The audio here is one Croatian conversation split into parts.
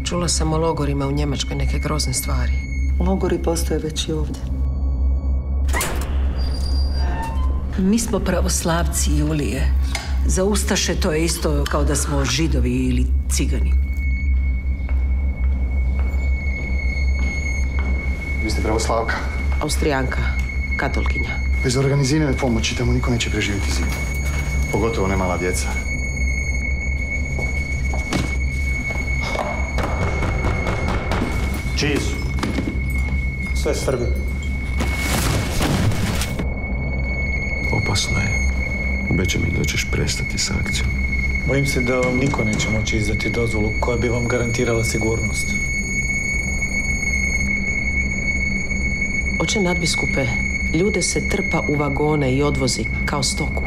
Čula sam o logorima u Njemačkoj neke grozne stvari. Logori postoje već i ovdje. Mi smo pravoslavci, Julije. Za ustaše to je isto kao da smo Židovi ili Cigani. Vi ste pravoslavka? Austrijanka, katolkinja. Bez organizirane pomoći tamo niko neće preživjeti zimu. Pogotovo ne mala djeca. Čiji su? Sve Srbi. Opasno je. Obećaj mi da ćeš prestati s akcijom. Bojim se da vam niko neće moći izdati dozvolu koja bi vam garantirala sigurnost. Oče nadbiskupe, ljude se trpa u vagone i odvozi kao stoku.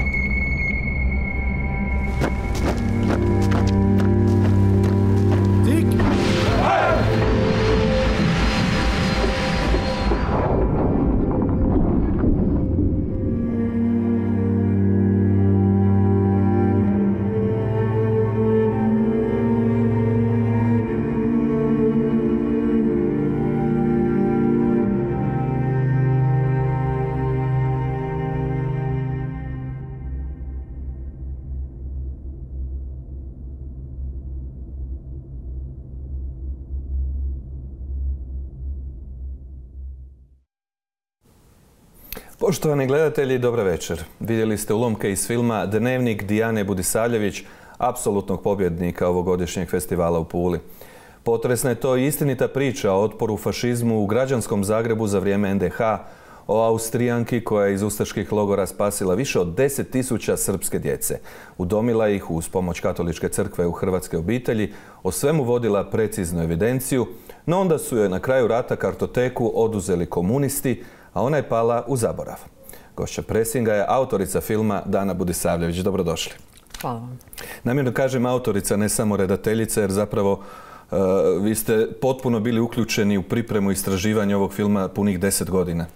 Poštovani gledatelji, dobra večer. Vidjeli ste ulomke iz filma Dnevnik Dijane Budisavljević, apsolutnog pobjednika ovogodišnjeg festivala u Puli. Potresna je to istinita priča o otporu fašizmu u građanskom Zagrebu za vrijeme NDH, o Austrijanki koja je iz ustaških logora spasila više od 10.000 srpske djece. Udomila ih uz pomoć Katoličke crkve u hrvatske obitelji, o svemu vodila preciznu evidenciju, no onda su joj na kraju rata kartoteku oduzeli komunisti, a ona je pala u zaborav. Gošća presinga je autorica filma Dana Budisavljević. Dobrodošli. Hvala vam. Namjerno kažem autorica, ne samo redateljica, jer zapravo vi ste potpuno bili uključeni u pripremu i istraživanje ovog filma punih 10 godina.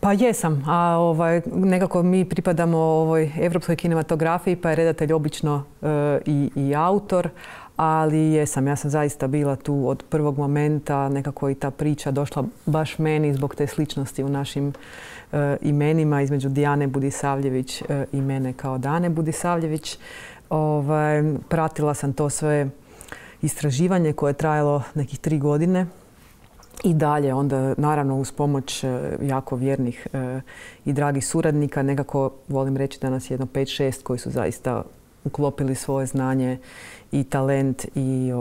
Pa jesam, a nekako mi pripadamo ovoj evropskoj kinematografiji, pa je redatelj obično i autor, ali jesam, ja sam zaista bila tu od prvog momenta, nekako i ta priča došla baš meni zbog te sličnosti u našim imenima između Dijane Budisavljević i mene kao Dane Budisavljević. Pratila sam to sve istraživanje koje je trajalo nekih 3 godine. I dalje, onda naravno uz pomoć jako vjernih i dragih suradnika, nekako volim reći da nas je jedno 5-6 koji su zaista uklopili svoje znanje i talent i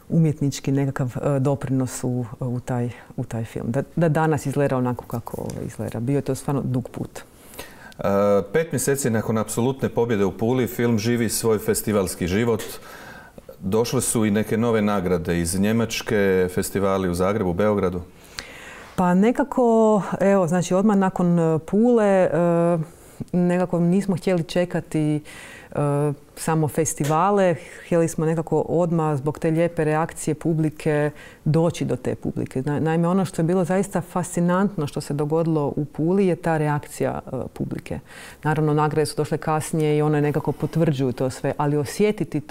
umjetnički nekakav doprinos u taj film. Da danas izgleda onako kako izgleda. Bio je to stvarno dug put. 5 mjeseci nakon apsolutne pobjede u Puli film živi svoj festivalski život. Došle su i neke nove nagrade iz Njemačke, festivali u Zagrebu, Beogradu. Pa nekako, evo, znači odmah nakon Pule nekako nismo htjeli čekati samo festivale, htjeli smo nekako odmah zbog te lijepe reakcije publike doći do te publike. Naime, ono što je bilo zaista fascinantno što se dogodilo u Puli je ta reakcija publike. Naravno, nagrade su došle kasnije i one nekako potvrđuju to sve, ali osjetiti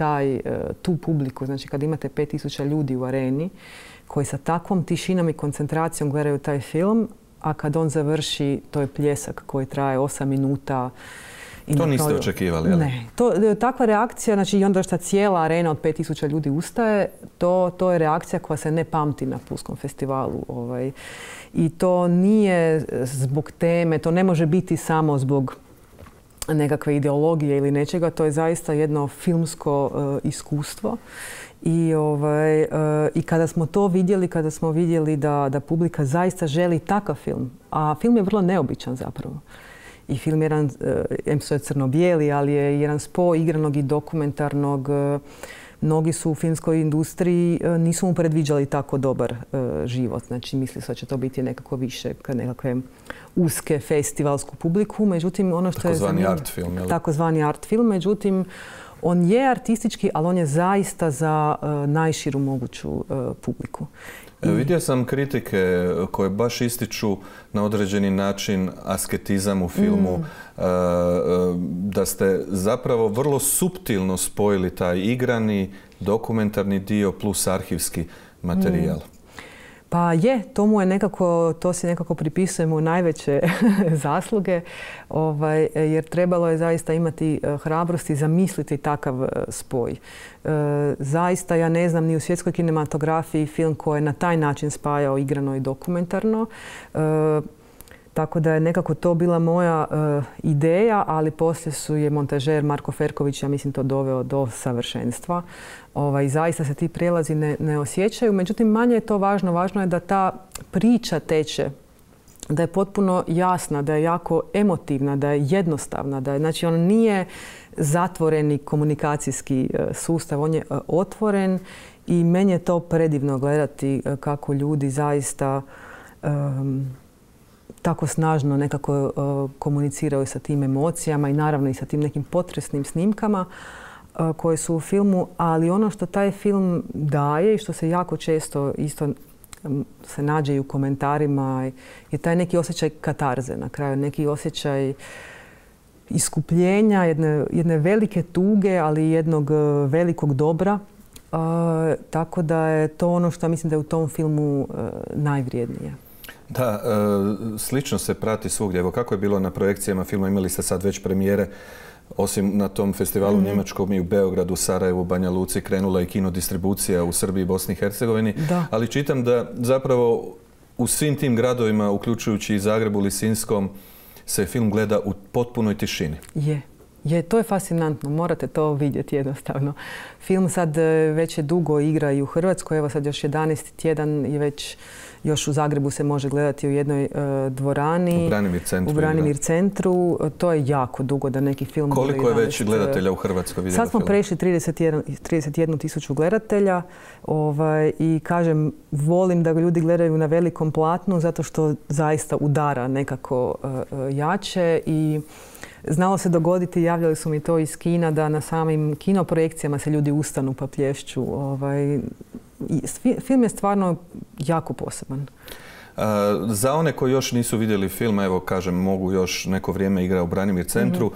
tu publiku, znači kad imate 5000 ljudi u areni koji sa takvom tišinom i koncentracijom gledaju taj film, a kad on završi, to je pljesak koji traje 8 minuta. To niste očekivali, ali? Ne. Takva reakcija, znači i onda što cijela arena od 5000 ljudi ustaje, to je reakcija koja se ne pamti na Pulskom festivalu. I to nije zbog teme, to ne može biti samo zbog nekakve ideologije ili nečega, to je zaista jedno filmsko iskustvo. I kada smo to vidjeli, kada smo vidjeli da publika zaista želi takav film, a film je vrlo neobičan zapravo. I film je jedan, što je crno-bijeli, ali je jedan spoj igranog i dokumentarnog. Mnogi su u filmskoj industriji, nisu mu predviđali tako dobar život. Znači, misli se da će to biti nekako više nekakve uske festivalsku publiku. Međutim, ono što je takozvani art film, jel? Takozvani art film. Međutim, On je artistički, ali on je zaista za najširu moguću publiku. Vidio sam kritike koje baš ističu na određeni način asketizam u filmu, da ste zapravo vrlo suptilno spojili taj igrani, dokumentarni dio plus arhivski materijal. Pa je, to si nekako pripisujemo najveće zasluge, jer trebalo je zaista imati hrabrosti zamisliti takav spoj. Zaista ja ne znam ni u svjetskoj kinematografiji film koji je na taj način spajao igrano i dokumentarno. Tako da je nekako to bila moja ideja, ali poslije je montažer Marko Ferković, ja mislim, to doveo do savršenstva. Zaista se ti prijelazi ne osjećaju. Međutim, manje je to važno. Važno je da ta priča teče, da je potpuno jasna, da je jako emotivna, da je jednostavna. Znači, on nije zatvoreni komunikacijski sustav, on je otvoren i meni je to predivno gledati kako ljudi zaista tako snažno nekako komuniciraju sa tim emocijama i naravno i sa tim nekim potresnim snimkama koje su u filmu, ali ono što taj film daje i što se jako često isto se nađe i u komentarima je taj neki osjećaj katarze na kraju, neki osjećaj iskupljenja, jedne velike tuge, ali jednog velikog dobra. Tako da je to ono što mislim da je u tom filmu najvrijednije. Da, slično se prati svugdje. Evo kako je bilo na projekcijama filma, imali ste sad već premijere, osim na tom festivalu u Njemačkom i u Beogradu, Sarajevu, Banja Luci, krenula i kinodistribucija u Srbiji i Bosni i Hercegovini. Ali čitam da zapravo u svim tim gradovima, uključujući i Zagrebu, Lisinskom, se film gleda u potpunoj tišini. To je fascinantno, morate to vidjeti jednostavno. Film sad već je dugo igra i u Hrvatskoj, evo sad još 11. tjedan je već, još u Zagrebu se može gledati u jednoj dvorani. U Branimir centru. To je jako dugo da neki film... Koliko je već gledatelja u Hrvatskoj vidjelo film? Sad smo prešli 31.000 gledatelja i kažem, volim da ga ljudi gledaju na velikom platnu zato što zaista udara nekako jače i znalo se dogoditi, javljali su mi to iz kina, da na samim kinoprojekcijama se ljudi ustanu pa plješću. Film je stvarno jako poseban. Za one koji još nisu vidjeli film, evo kažem, mogu još neko vrijeme igra u Branimir centru.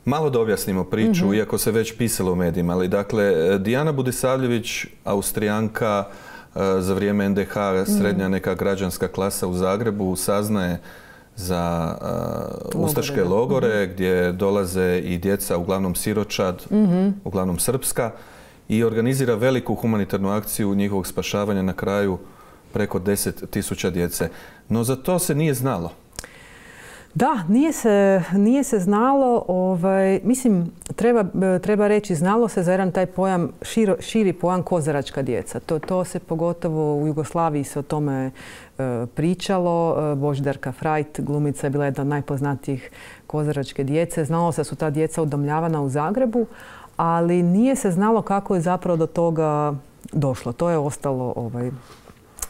Malo da objasnimo priču, iako se već pisalo u medijima. Ali dakle, Dijana Budisavljević, Austrijanka, za vrijeme NDH, srednja neka građanska klasa u Zagrebu, saznaje za ustaške logore gdje dolaze i djeca, uglavnom siročad, uglavnom srpska, i organizira veliku humanitarnu akciju njihovog spašavanja, na kraju preko 10.000 djece. No za to se nije znalo. Da, nije se znalo. Mislim, treba reći, znalo se za jedan taj pojam, širi pojam kozaračka djeca. To se pogotovo u Jugoslaviji se o tome pričalo. Božidarka Frajt, glumica, je bila jedna od najpoznatijih kozaračke djece. Znalo se da su ta djeca udomljavana u Zagrebu, ali nije se znalo kako je zapravo do toga došlo. To je ostalo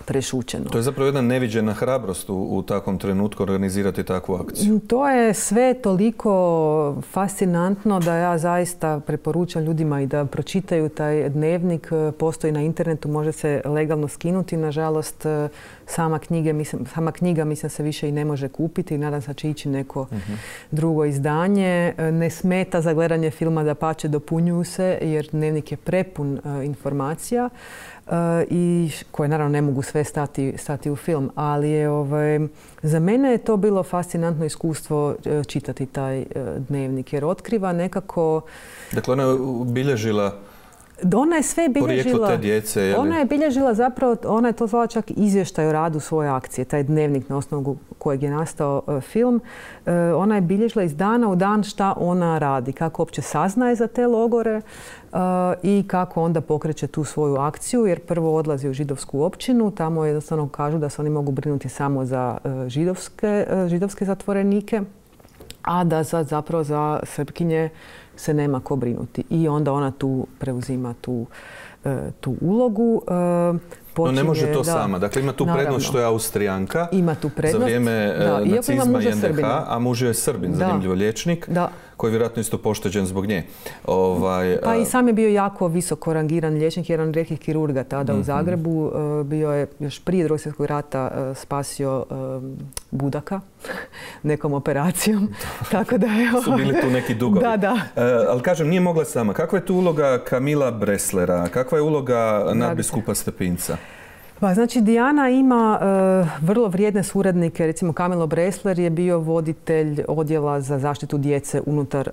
prešućeno. To je zapravo jedna neviđena hrabrost u takvom trenutku organizirati takvu akciju. To je sve toliko fascinantno da ja zaista preporučam ljudima i da pročitaju taj dnevnik. Postoji na internetu, može se legalno skinuti. Nažalost, sama knjiga mislim se više i ne može kupiti. Nadam se da će ići neko drugo izdanje. Ne smeta za gledanje filma, dapače dopunjuju se jer dnevnik je prepun informacija. I koje naravno ne mogu sve stati u film, ali za mene je to bilo fascinantno iskustvo čitati taj dnevnik jer otkriva nekako... Dakle, ona je bilježila Ona je sve bilježila. Te djece, ona je bilježila zapravo, ona je to zvala čak izvještaj o radu svoje akcije, taj dnevnik na osnovu kojeg je nastao film. Ona je bilježila iz dana u dan šta ona radi, kako uopće saznaje za te logore i kako onda pokreće tu svoju akciju, jer prvo odlazi u židovsku općinu, tamo jednostavno kažu da se oni mogu brinuti samo za židovske zatvorenike, a da zapravo za Srpkinje se nema ko brinuti. I onda ona tu preuzima tu ulogu. No ne može to sama. Dakle, ima tu prednost što je Austrijanka za vrijeme nacizma i NDH, a muž je Srbin, zanimljivo liječnik, koji je vjerojatno isto pošteđen zbog nje. Pa i sam je bio jako visoko rangiran liječnik, jedan od rijetkih kirurga tada u Zagrebu. Bio je još prije Drugog svjetskog rata spasio Budaka nekom operacijom. Tako da je... Su bili tu neki dugovi. Da. Ali kažem, nije mogla sama. Kakva je tu uloga Kamila Bresslera? Kakva je uloga nadbiskupa Stepinca? Pa znači Dijana ima vrlo vrijedne suradnike. Recimo Kamilo Bressler je bio voditelj odjela za zaštitu djece unutar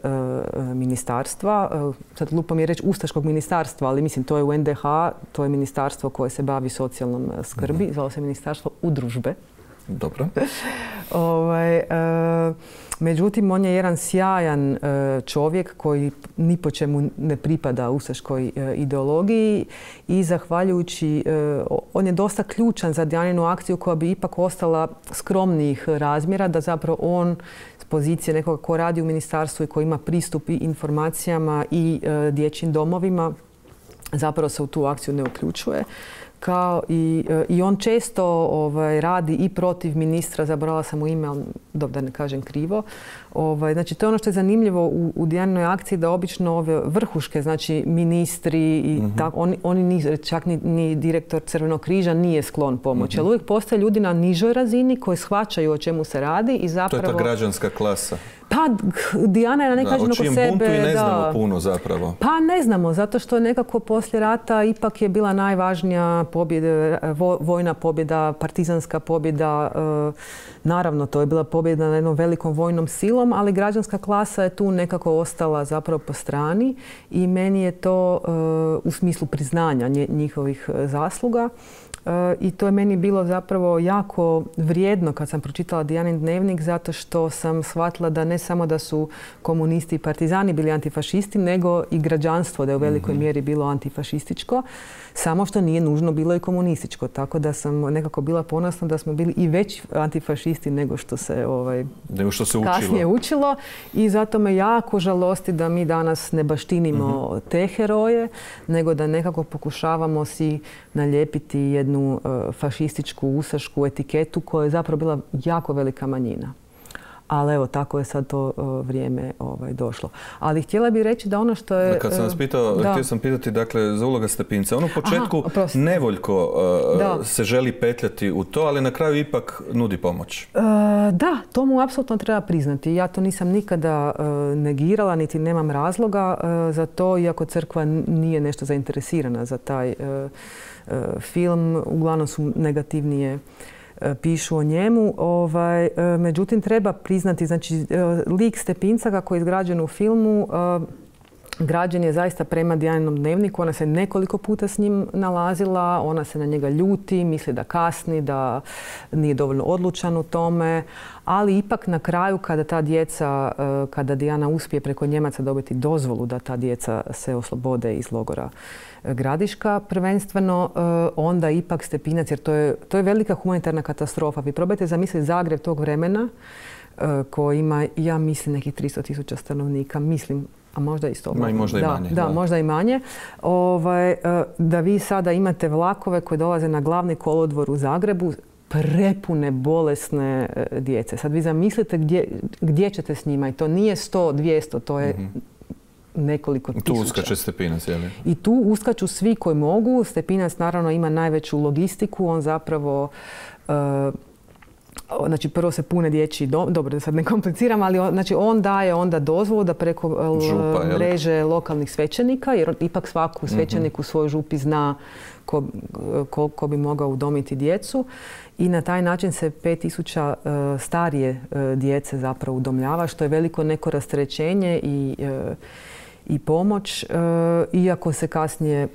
ministarstva. Sad lupam je reći ustaškog ministarstva, ali mislim to je u NDH, to je ministarstvo koje se bavi socijalnom skrbi. Zvalo se ministarstvo udružbe. Dobro. Međutim, on je jedan sjajan čovjek koji ni po čemu ne pripada ustaškoj ideologiji i zahvaljujući, on je dosta ključan za Dijaninu akciju koja bi ipak ostala skromnijih razmjera, da zapravo on s pozicije nekoga ko radi u ministarstvu i koji ima pristup i informacijama i dječjim domovima, zapravo se u tu akciju ne uključuje. I on često radi i protiv ministra, zaboravila sam mu ime, ali dobro da ne kažem krivo. Znači, to je ono što je zanimljivo u Dijaninoj akciji, da obično ove vrhuške, znači ministri i tako, oni čak ni direktor Crvenog križa nije sklon pomoći. Ali uvijek postoje ljudi na nižoj razini koji shvaćaju o čemu se radi i zapravo... To je ta građanska klasa. Pa Dijana je na neki način oko sebe... O čijem buntu i ne znamo puno zapravo. Pa ne znamo, zato što nekako poslije rata ipak je bila najvažnija pobjeda, vojna pobjeda, partizanska pobjeda. Naravno, to je bila pobjeda na jednom velikom vojnom silom, ali građanska klasa je tu nekako ostala zapravo po strani i meni je to u smislu priznanja njihovih zasluga. I to je meni bilo zapravo jako vrijedno kad sam pročitala Dijanin dnevnik, zato što sam shvatila da ne samo da su komunisti i partizani bili antifašisti, nego i građanstvo da je u velikoj mjeri bilo antifašističko, samo što nije nužno bilo i komunističko. Tako da sam nekako bila ponosna da smo bili i veći antifašisti nego što se kasnije učilo. I zato me jako žalosti da mi danas ne baštinimo te heroje, nego da nekako pokušavamo si nalijepiti jednu fašističku, ustašku etiketu koja je zapravo bila jako velika manjina. Ali evo, tako je sad to vrijeme došlo. Ali htjela bih reći da ono što je... Kad sam vas pitao, htio sam pitati dakle, za uloga Stepinca. On u početku nevoljko se želi petljati u to, ali na kraju ipak nudi pomoć. Da, to mu apsolutno treba priznati. Ja to nisam nikada negirala, niti nemam razloga za to, iako crkva nije nešto zainteresirana za taj film. Uglavnom su negativnije pišu o njemu. Međutim, treba priznati, znači, lik Stepinca kako je izgrađen u filmu, građen je zaista prema Dijaninom dnevniku. Ona se nekoliko puta s njim nalazila, ona se na njega ljuti, misli da kasni, da nije dovoljno odlučan u tome, ali ipak na kraju kada Dijana uspije preko Njemaca dobiti dozvolu da ta djeca se oslobode iz logora Gradiška prvenstveno, onda ipak Stepinac, jer to je velika humanitarna katastrofa. Vi probajte zamisliti Zagreb tog vremena koji ima, ja mislim, nekih 300.000 stanovnika, mislim, a možda isto. Možda i manje. Da, možda i manje. Da vi sada imate vlakove koji dolaze na glavni kolodvor u Zagrebu, prepune bolesne djece. Sad vi zamislite gdje ćete s njima i to nije 100, 200, to je nekoliko tisuća. Tu uskače Stepinac, je li? I tu uskaču svi koji mogu. Stepinac naravno ima najveću logistiku. On zapravo, znači prvo se pune dječji dom, dobro da sad ne kompliciram, ali znači on daje onda dozvolu da preko mreže lokalnih svećenika, jer ipak svaku svećenik u svojoj župi zna ko bi mogao udomiti djecu. I na taj način se 5.000 starije djece zapravo udomljava, što je veliko neko rasterećenje i pomoć, iako se kasnije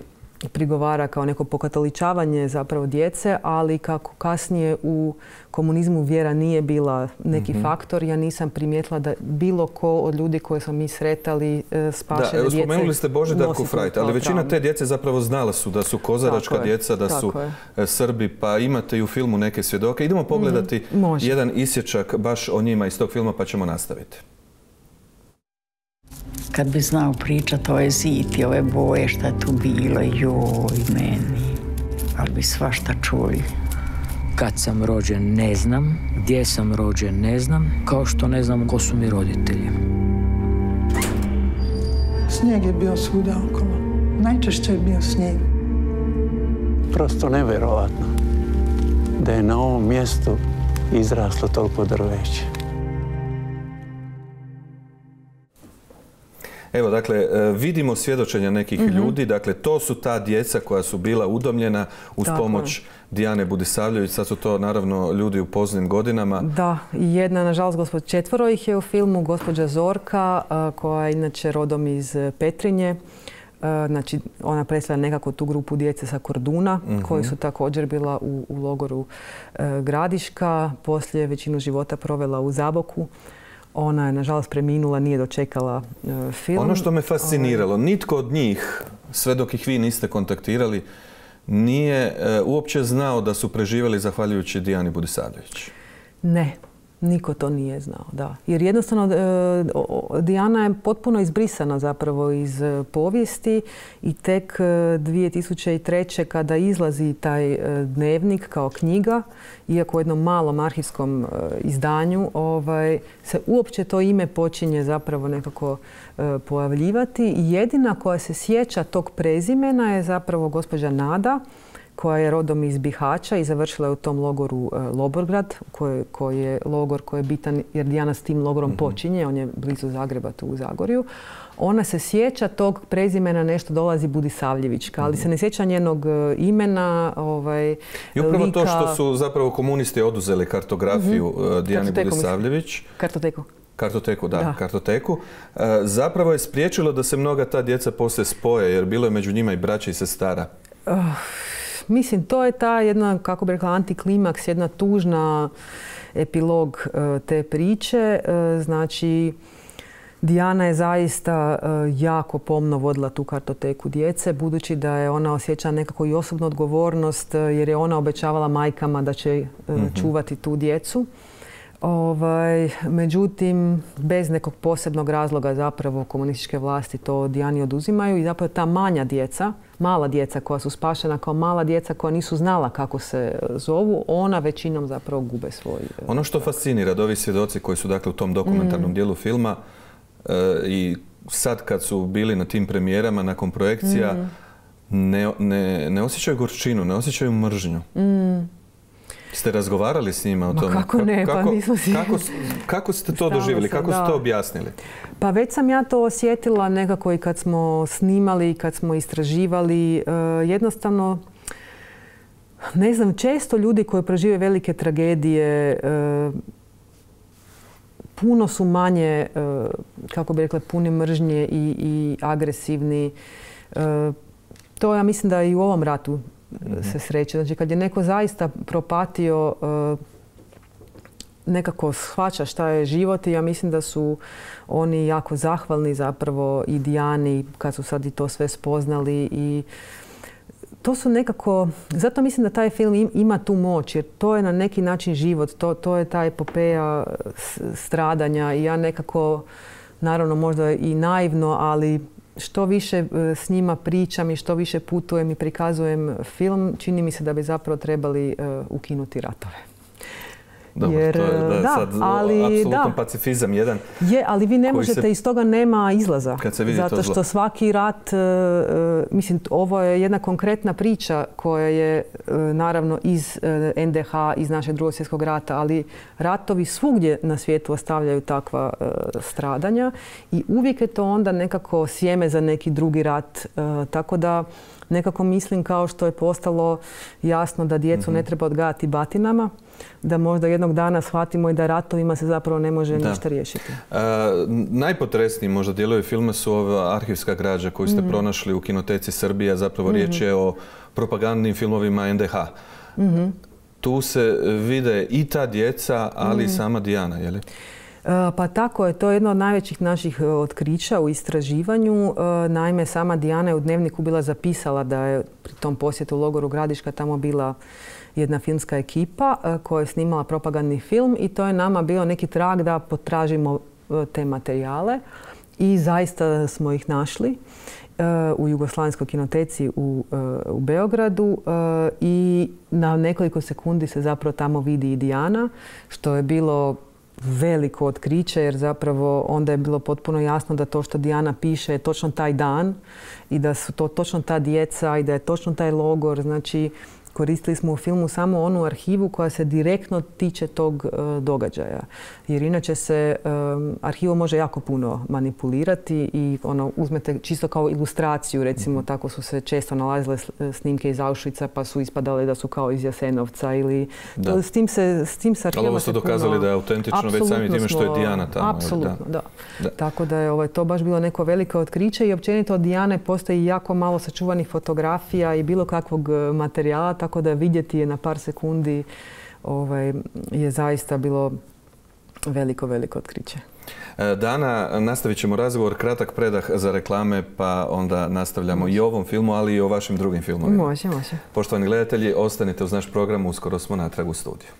prigovara kao neko pokatoličavanje zapravo djece, ali kako kasnije u komunizmu vjera nije bila neki faktor, ja nisam primijetila da bilo ko od ljudi koje smo mi sretali spašene djece. Spomenuli ste Božidarku Frajt, ali većina te djece zapravo znala su da su kozaračka djeca, da su Srbi, pa imate i u filmu neke svjedoke. Idemo pogledati jedan isječak baš o njima iz tog filma, pa ćemo nastaviti. Kad bi znao pričat ove zid i ove boje šta je tu bilo, joj meni, ali bi svašta čuli. Kad sam rođen ne znam, gdje sam rođen ne znam, kao što ne znam ko su mi roditelji. Snijeg je bio svuda okolo. Najčešće je bio snijeg. Prosto nevjerovatno da je na ovom mjestu izraslo toliko drveće. Evo, dakle, vidimo svjedočenja nekih ljudi. Dakle, to su ta djeca koja su bila udomljena uz pomoć Dijane Budisavljević. Sad su to, naravno, ljudi u poznim godinama. Da, jedna, nažalost, 4 ih je u filmu. Gospođa Zorka, koja je inače rodom iz Petrinje. Znači, ona predstavlja nekako tu grupu djece sa Korduna, koji su također bila u logoru Gradiška. Poslije većinu života provela u Zaboku. Ona je, nažalost, preminula, nije dočekala film. Ono što me fasciniralo, nitko od njih, sve dok ih vi niste kontaktirali, nije uopće znao da su preživjeli zahvaljujući Dijani Budisavljević. Ne, niko to nije znao, da. Jer jednostavno Dijana je potpuno izbrisana zapravo iz povijesti i tek 2003. kada izlazi taj dnevnik kao knjiga, iako u jednom malom arhivskom izdanju, se uopće to ime počinje zapravo nekako pojavljivati. I jedina koja se sjeća tog prezimena je zapravo gospođa Nada, koja je rodom iz Bihaća i završila je u tom logoru Loborgrad, koji je logor koji je bitan jer Dijana s tim logorom počinje, on je blizu Zagreba, tu u Zagorju. Ona se sjeća tog prezimena, nešto dolazi Budisavljevićka, ali se ne sjeća njenog imena, I upravo lika. To što su zapravo komunisti oduzeli kartografiju Dijani Budisavljević. Kartoteku, kartoteku. Zapravo je spriječilo da se mnoga ta djeca poslije spoje, jer bilo je među njima i braća i sestara. Mislim, to je ta jedna, kako bi rekla, antiklimaks, jedna tužna epilog te priče. Znači, Dijana je zaista jako pomno vodila tu kartoteku djece, budući da je ona osjećala nekako i osobnu odgovornost, jer je ona obećavala majkama da će čuvati tu djecu. Međutim, bez nekog posebnog razloga zapravo komunističke vlasti to Dijani oduzimaju i zapravo ta mala djeca koja su spašena kao mala djeca koja nisu znala kako se zovu, ona većinom zapravo gube svoj... Ono što fascinira da ovi svjedoci koji su dakle u tom dokumentarnom dijelu filma i sad kad su bili na tim premijerama nakon projekcija ne osjećaju gorčinu, ne osjećaju mržnju. Ste razgovarali s njima o tome? Kako ne, pa nismo si... Kako ste to doživjeli? Kako ste to objasnili? Pa već sam ja to osjetila nekako i kad smo snimali, kad smo istraživali. Jednostavno, ne znam, često ljudi koji prožive velike tragedije puno su manje, kako bi rekla, puni mržnje i agresivni. To ja mislim da i u ovom ratu se sreće. Znači, kad je neko zaista propatio, nekako shvaća šta je život i ja mislim da su oni jako zahvalni zapravo i Dijani kad su sad i to sve spoznali i to su nekako, zato mislim da taj film ima tu moć jer to je na neki način život, to je ta epopeja stradanja i ja nekako, naravno možda i naivno, ali što više s njima pričam i što više putujem i prikazujem film, čini mi se da bi zapravo trebali ukinuti ratove. Dobro, to je sad apsolutan pacifizam jedan. Je, ali vi ne možete, iz toga nema izlaza. Kad se vidi zato što svaki rat, mislim, ovo je jedna konkretna priča koja je naravno iz NDH, iz našeg Drugog svjetskog rata, ali ratovi svugdje na svijetu ostavljaju takva stradanja i uvijek je to onda nekako sjeme za neki drugi rat. Tako da nekako mislim kao što je postalo jasno da djecu ne treba odgajati batinama, da možda jednog dana shvatimo i da ratovima se zapravo ne može ništa riješiti. Najpotresniji možda dijelovi filma su ova arhivska građa koju ste pronašli u Kinoteci Srbija. Zapravo riječ je o propagandnim filmovima NDH. Tu se vide i ta djeca, ali i sama Dijana, je li? Pa tako je, to je jedno od najvećih naših otkrića u istraživanju. Naime, sama Dijana je u dnevniku bila zapisala da je pri tom posjetu u logoru Gradiška tamo bila jedna filmska ekipa koja je snimala propagandni film i to je nama bio neki trag da potražimo te materijale i zaista smo ih našli u Jugoslavenskoj kinoteci u Beogradu i na nekoliko sekundi se zapravo tamo vidi i Dijana, što je bilo veliko otkriće, jer zapravo onda je bilo potpuno jasno da to što Dijana piše je točno taj dan i da su to točno ta djeca i da je točno taj logor. Znači, koristili smo u filmu samo onu arhivu koja se direktno tiče tog događaja. Jer inače se arhivom može jako puno manipulirati i uzmete čisto kao ilustraciju, recimo tako su se često nalazile snimke iz Auschwitza pa su ispadale da su kao iz Jasenovca ili... S tim se arhivom... Ali ovo ste dokazali da je autentično već samim time što je Dijana tamo. Apsolutno, da. Tako da je to baš bilo neko veliko otkriće i općenito od Dijane postoji jako malo sačuvanih fotografija i bilo kakvog materijala, tako da vidjeti je na par sekundi je zaista bilo veliko otkriće. Dana, nastavit ćemo razgovor, kratak predah za reklame, pa onda nastavljamo i o ovom filmu, ali i o vašim drugim filmovima. Može. Poštovani gledatelji, ostanite uz naš program, uskoro smo natrag u studiju.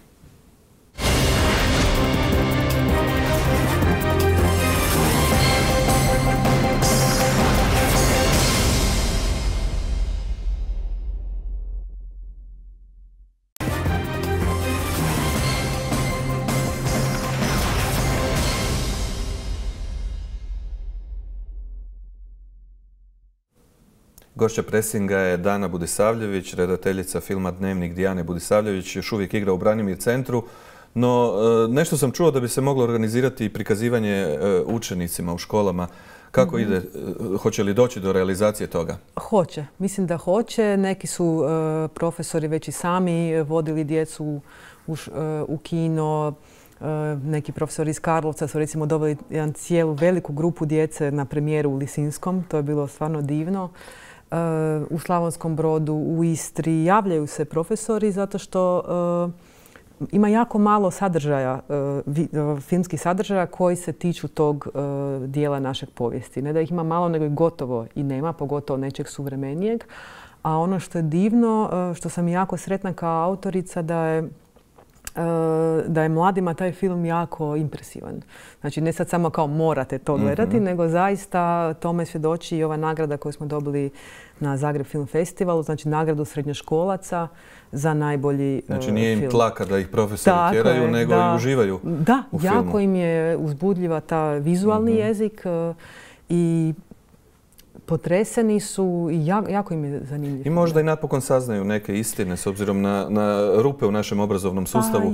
Gošća presinga je Dana Budisavljević, redateljica filma Dnevnik Dijane Budisavljević, još uvijek igra u Branimir centru. No, nešto sam čuo da bi se moglo organizirati i prikazivanje učenicima u školama. Kako ide? Hoće li doći do realizacije toga? Hoće. Mislim da hoće. Neki su profesori već i sami vodili djecu u kino. Neki profesori iz Karlovca su recimo doveli cijelu veliku grupu djece na premijeru u Lisinskom. To je bilo stvarno divno. U Slavonskom Brodu, u Istri javljaju se profesori zato što ima jako malo sadržaja, filmskih sadržaja koji se tiču tog dijela našeg povijesti. Ne da ih ima malo, nego i gotovo i nema, pogotovo nečeg suvremenijeg. A ono što je divno, što sam jako sretna kao autorica, da je mladima taj film jako impresivan. Znači, ne sad samo kao morate to gledati, nego zaista tome svjedoči i ova nagrada koju smo dobili na Zagreb Film Festivalu, znači nagradu srednjoškolaca za najbolji film. Znači, nije im tlaka da ih profesori tjeraju, nego i uživaju u filmu. Da, jako im je uzbudljiva ta vizualni jezik i potreseni su i jako im je zanimljivo. I možda i napokon saznaju neke istine s obzirom na rupe u našem obrazovnom sustavu.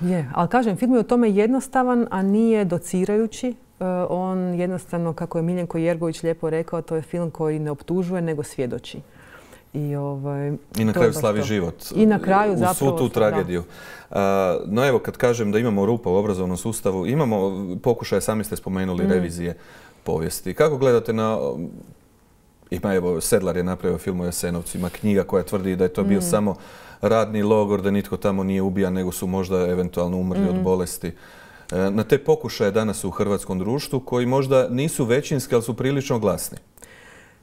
Je. Ali kažem, film je u tome jednostavan, a nije docirajući. On jednostavno, kako je Miljenko Jergović lijepo rekao, to je film koji ne optužuje, nego svjedoči. I na kraju slavi život. I na kraju zapravo... U svu tu tragediju. No evo, kad kažem da imamo rupa u obrazovnom sustavu, imamo pokušaje, sami ste spomenuli, revizije povijesti. Kako gledate na... Evo, Sedlar je napravio film o Jasenovcu, ima knjiga koja tvrdi da je to bio samo radni logor, da nitko tamo nije ubijan, nego su možda eventualno umrli od bolesti. Na te pokušaje danas u hrvatskom društvu, koji možda nisu većinski, ali su prilično glasni.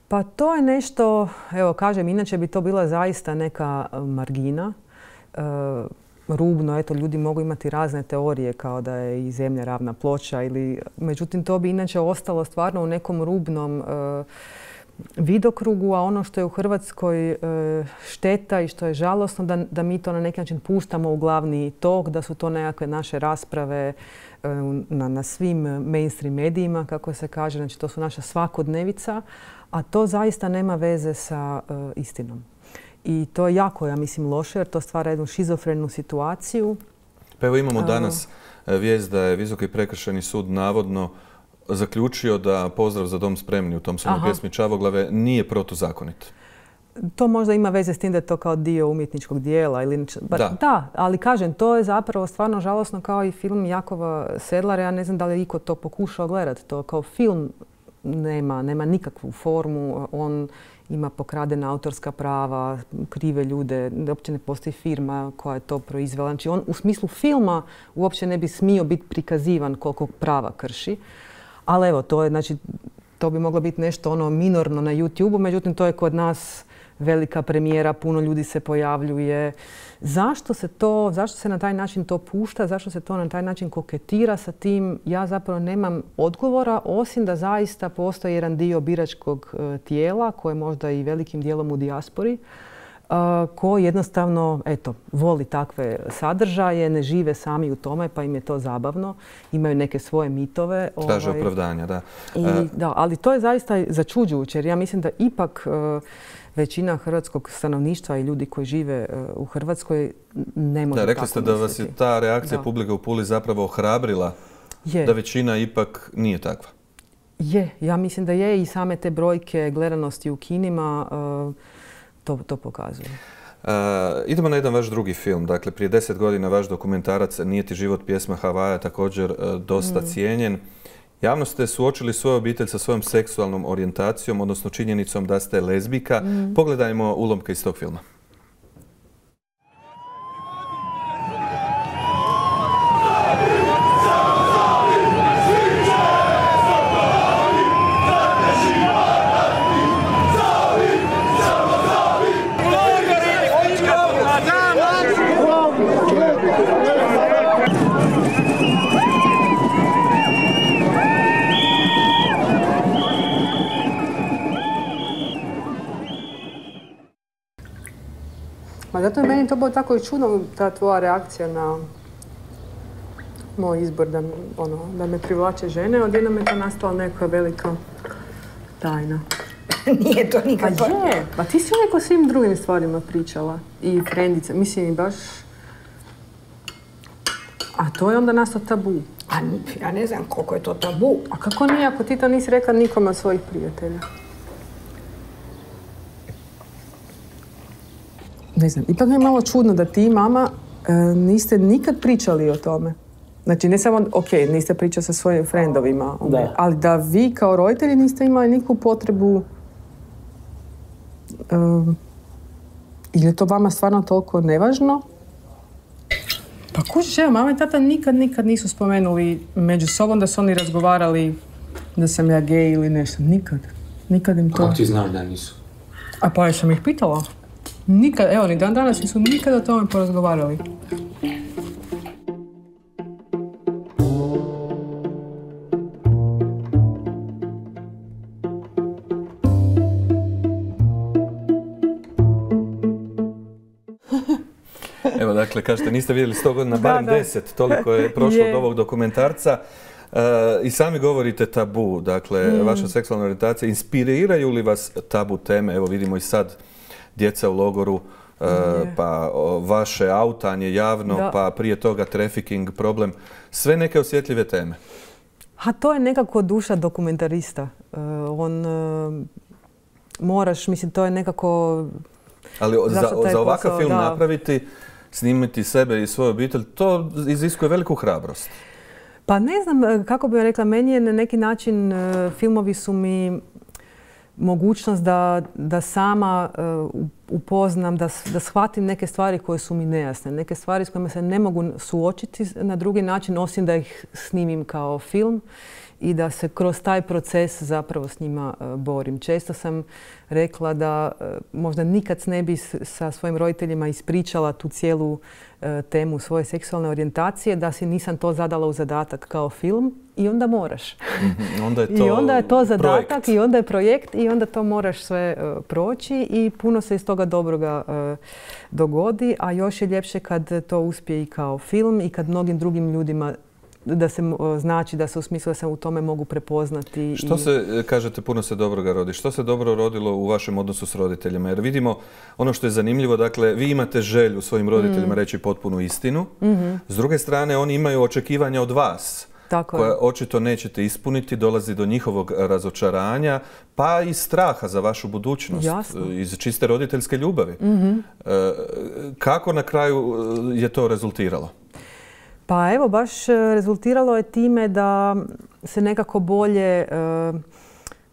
Pa to je nešto, evo kažem, inače bi to bila zaista neka margina. Rubno, eto, ljudi mogu imati razne teorije kao da je i zemlja ravna ploča, međutim to bi inače ostalo stvarno u nekom rubnom vidokrugu, a ono što je u Hrvatskoj šteta i što je žalosno da mi to na neki način puštamo u glavni tok, da su to nekakve naše rasprave na svim mainstream medijima, kako se kaže, znači to su naša svakodnevica, a to zaista nema veze sa istinom. I to je jako, ja mislim, loše, jer to stvara jednu šizofrenu situaciju. Pa evo imamo danas vijest da je Visoki prekršajni sud navodno zaključio da Pozdrav za dom spremni u Thompsonovoj pjesmi Čavoglave nije protuzakonit. To možda ima veze s tim da je to kao dio umjetničkog dijela. Da, ali kažem, to je zapravo stvarno žalosno kao i film Jakova Sedlara. Ja ne znam da li je iko to pokušao gledati. To kao film nema nikakvu formu. On ima pokradena autorska prava, krive ljude, uopće ne postoji firma koja je to proizvela. Znači on u smislu filma uopće ne bi smio biti prikazivan koliko prava krši. Ali evo, to bi moglo biti nešto minorno na YouTube-u, međutim to je kod nas velika premijera, puno ljudi se pojavljuje. Zašto se na taj način to pušta, zašto se to na taj način koketira sa tim? Ja zapravo nemam odgovora, osim da zaista postoji jedan dio biračkog tijela, koje je možda i velikim dijelom u dijaspori, koji jednostavno, eto, voli takve sadržaje, ne žive sami u tome, pa im je to zabavno. Imaju neke svoje mitove. Traže opravdanja, da. Da, ali to je zaista začuđujuće, jer ja mislim da ipak većina hrvatskog stanovništva i ljudi koji žive u Hrvatskoj ne može tako misliti. Rekli ste da vas je ta reakcija publike u Puli zapravo ohrabrila, da većina ipak nije takva. Ja mislim da je i same te brojke gledanosti u kinima to pokazuje. Idemo na jedan vaš drugi film. Dakle, prije 10 godina vaš dokumentarac Nije ti život pjesma Havaja također dosta cijenjen. Javno ste suočili svoju obitelj sa svojom seksualnom orijentacijom, odnosno činjenicom da ste lezbijka. Pogledajmo ulomke iz tog filma. Zato je meni to bilo tako i čudno, ta tvoja reakcija na moj izbor da me privlače žene. Odjednom je to nastala neka velika tajna. Nije to nikakva. Pa je, pa ti si uvijek o svim drugim stvarima pričala. I frendice, mislim i baš... A to je onda nastao tabu. A ja ne znam koliko je to tabu. A kako nije, ako ti to nisi rekla nikome od svojih prijatelja? Ne znam, ipak mi je malo čudno da ti i mama niste nikad pričali o tome. Znači, ne samo, niste pričali sa svojim frendovima, ali da vi kao roditelji niste imali nikakvu potrebu. Ili je to vama stvarno toliko nevažno? Pa kužiš, evo, mama i tata nikad nisu spomenuli među sobom da su oni razgovarali da sam ja gej ili nešto. Nikad im to... Kako ti znaš da nisu? A pa ja sam ih pitala. Nikad, evo, ni dan danas nisu nikada o tome porazgovarali. Evo, dakle, kažete, niste vidjeli 100 godina, barem 10, toliko je prošlo od ovog dokumentarca. I sami govorite tabu, dakle, vaša seksualna orijentacija. Inspiriraju li vas tabu teme? Evo, vidimo i sad djeca u logoru, pa vaše autanje javno, pa prije toga trafficking, problem. Sve neke osjetljive teme. A to je nekako duša dokumentarista. On moraš, mislim, to je nekako... Ali za ovakav film napraviti, snimiti sebe i svoju obitelj, to iziskuje veliku hrabrost. Pa ne znam kako bih rekla, meni je na neki način, filmovi su mi mogućnost da sama upoznam, da shvatim neke stvari koje su mi nejasne, neke stvari s kojima se ne mogu suočiti na drugi način, osim da ih snimim kao film i da se kroz taj proces zapravo s njima borim. Često sam rekla da možda nikad ne bi sa svojim roditeljima ispričala tu cijelu temu svoje seksualne orijentacije, da si nisam to zadala u zadatak kao film i onda moraš. I onda je to zadatak projekt. I onda je projekt i onda to moraš sve proći i puno se iz toga dobroga dogodi, a još je ljepše kad to uspije i kao film i kad mnogim drugim ljudima da se znači da se u smislu da se u tome mogu prepoznati. Što se, kažete, puno se dobroga rodi. Što se dobro rodilo u vašem odnosu s roditeljima? Jer vidimo ono što je zanimljivo, dakle, vi imate želju svojim roditeljima reći potpunu istinu. S druge strane, oni imaju očekivanja od vas koje očito nećete ispuniti, dolazi do njihovog razočaranja, pa i straha za vašu budućnost. Iz čiste roditeljske ljubavi. Kako na kraju je to rezultiralo? Pa evo, baš rezultiralo je time da se nekako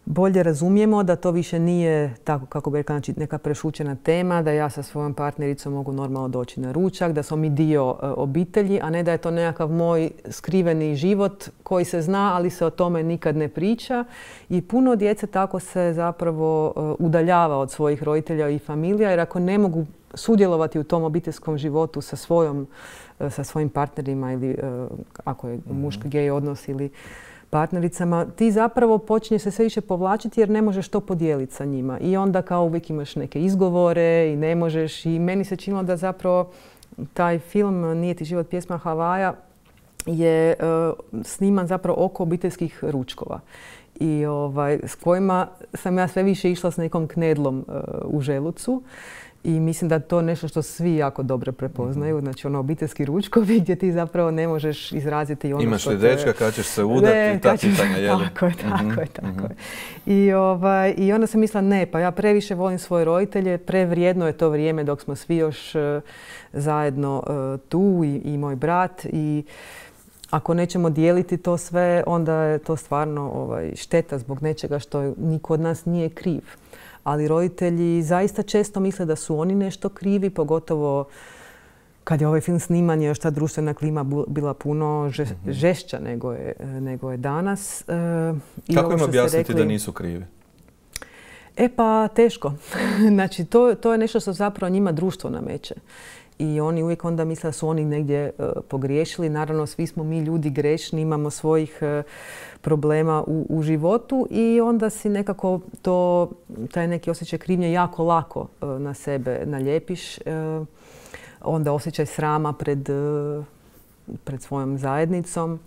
bolje razumijemo, da to više nije tako, kako bi rekla, znači neka prešućena tema, da ja sa svojom partnericom mogu normalno doći na ručak, da smo mi dio obitelji, a ne da je to nekakav moj skriveni život koji se zna, ali se o tome nikad ne priča. I puno djece tako se zapravo udaljava od svojih roditelja i familija, jer ako ne mogu sudjelovati u tom obiteljskom životu sa svojim partnerima ili ako je muški gej odnos ili partnericama, ti zapravo počinje se sve više povlačiti jer ne možeš to podijeliti sa njima. I onda kao uvijek imaš neke izgovore i ne možeš. I meni se činilo da zapravo taj film Nije ti život pjesma Havaja je sniman zapravo oko obiteljskih ručkova. I s kojima sam ja sve više išla s nekom knedlom u želucu. I mislim da je to nešto što svi jako dobro prepoznaju. Znači obiteljski ručkovi gdje ti zapravo ne možeš izraziti ono imaš što li dečka, kad ćeš se udati i ta pitanja, je li? Tako je. I onda sam mislila ne, pa ja previše volim svoje roditelje, prevrijedno je to vrijeme dok smo svi još zajedno tu i moj brat. I ako nećemo dijeliti to sve, onda je to stvarno šteta zbog nečega što niko od nas nije kriv. Ali roditelji zaista često misle da su oni nešto krivi, pogotovo kad je ovaj film sniman, još ta društvena klima bila puno žešća nego je danas. Kako im objasniti da nisu krivi? Pa teško. Znači, to je nešto što zapravo njima društvo nameće. I oni uvijek onda misle da su oni negdje pogriješili. Naravno, svi smo mi ljudi grešni, imamo svojih problema u životu i onda si nekako taj neki osjećaj krivnje jako lako na sebe naljepiš. Onda osjećaj srama pred svojom zajednicom,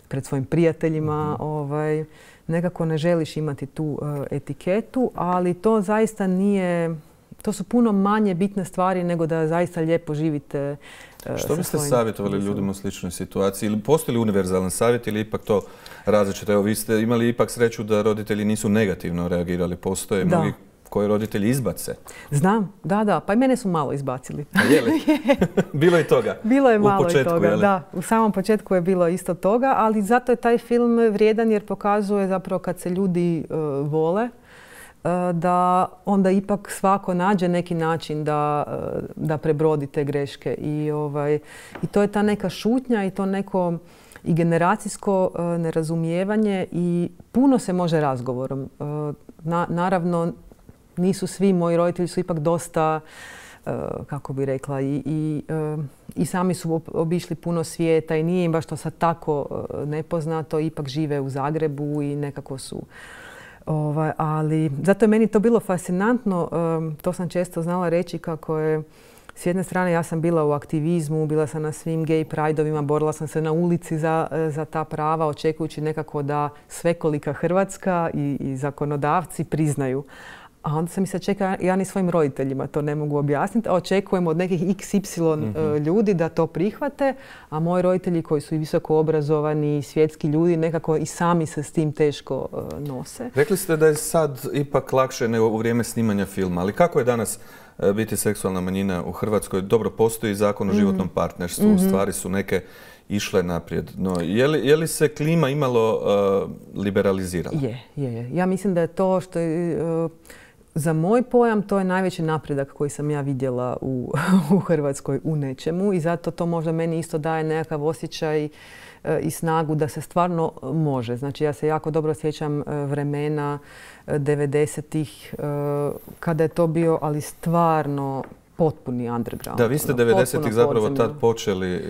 pred svojim prijateljima. Nekako ne želiš imati tu etiketu, ali to zaista nije... To su puno manje bitne stvari nego da zaista lijepo živite. Što biste savjetovali ljudima u sličnoj situaciji? Ili postoji li univerzalan savjet ili ipak to različito? Evo, vi ste imali ipak sreću da roditelji nisu negativno reagirali. Postoje mnogi koji roditelji izbace. Znam, da. Pa i mene su malo izbacili. Je li? Bilo je toga? Bilo je malo i toga, da. U samom početku je bilo isto toga, ali zato je taj film vrijedan jer pokazuje zapravo kad se ljudi vole, da onda ipak svako nađe neki način da prebrodi te greške. I to je ta neka šutnja i to neko i generacijsko nerazumijevanje i puno se može razgovorom. Naravno, nisu svi, moji roditelji su ipak dosta, kako bi rekla, i sami su obišli puno svijeta i nije im baš to sad tako nepoznato, ipak žive u Zagrebu i nekako su... ali zato je meni to bilo fascinantno, to sam često znala reći kako je s jedne strane ja sam bila u aktivizmu, bila sam na svim gay prideovima, borila sam se na ulici za ta prava, očekujući nekako da svekolika Hrvatska i zakonodavci priznaju. A onda sam mislila, čekaj, ja ni svojim roditeljima to ne mogu objasniti, a očekujem od nekih XY ljudi da to prihvate, a moji roditelji koji su i visoko obrazovani, svjetski ljudi, nekako i sami se s tim teško nose. Rekli ste da je sad ipak lakše nego u vrijeme snimanja filma, ali kako je danas biti seksualna manjina u Hrvatskoj? Dobro, postoji zakon o životnom partnerstvu, stvari su neke išle naprijed. No, je li se klima imalo liberalizirala? Je. Ja mislim da je to što je... Za moj pojam to je najveći napredak koji sam ja vidjela u Hrvatskoj u nečemu i zato to možda meni isto daje nekakav osjećaj i snagu da se stvarno može. Znači ja se jako dobro sjećam vremena 90-ih kada je to bio, ali stvarno potpuni underground. Da, vi ste 90-ih zapravo tad počeli